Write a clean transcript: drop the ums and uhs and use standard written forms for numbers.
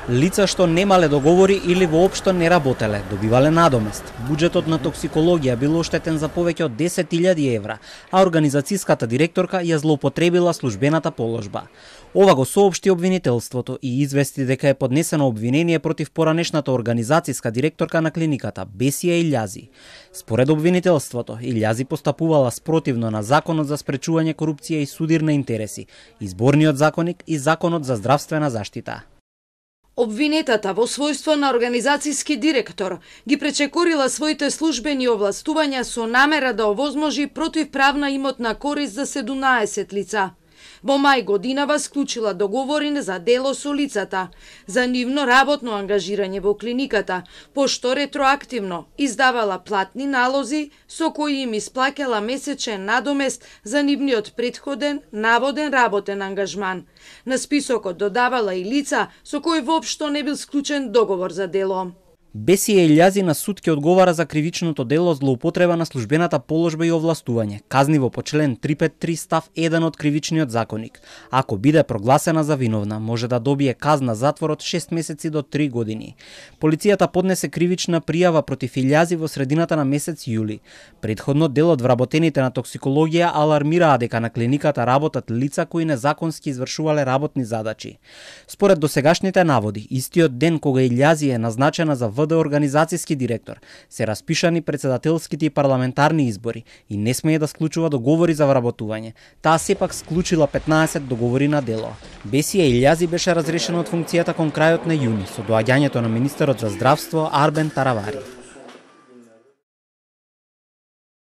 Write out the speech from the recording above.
Лица што немале договори или воопшто не работеле, добивале надомест. Буџетот на токсикологија бил оштетен за повеќе од 10.000 евра, а организацијската директорка ја злоупотребила службената положба. Ова го соопшти обвинителството и извести дека е поднесено обвинение против поранешната организацијска директорка на клиниката Бесија Илјази. Според обвинителството, Илјази постапувала спротивно на Законот за спречување корупција и судир на интереси, Изборниот законник и Законот за здравствена заштита. Обвинетата во својство на организацијски директор ги пречекорила своите службени овластувања со намера да овозможи противправна имотна корист за 17 лица. Во мај годинава склучила договори за дело со лицата, за нивно работно ангажирање во клиниката, пошто ретроактивно издавала платни налози со кои им исплаќала месечен надомест за нивниот претходен наводен работен ангажман. На списокот додавала и лица со кои воопшто не бил склучен договор за дело. Бесија Илјази на суд ќе одговара за кривичното дело злоупотреба на службената положба и овластување, казниво по член 353 став 1 од кривичниот законник. Ако биде прогласена за виновна, може да добие казна затвор од 6 месеци до 3 години. Полицијата поднесе кривична пријава против Илјази во средината на месец јули. Претходно делот вработените на токсикологија алармираа дека на клиниката работат лица кои незаконски извршувале работни задачи. Според досегашните наводи, истиот ден кога Илјази е назначена за ВД организацијски директор, се распишани председателските и парламентарни избори и не смее да склучува договори за вработување. Таа сепак склучила 15 договори на дело. Бесија Илјази беше разрешена од функцијата кон крајот на јуни со доаѓањето на министерот за здравство Арбен Таравари.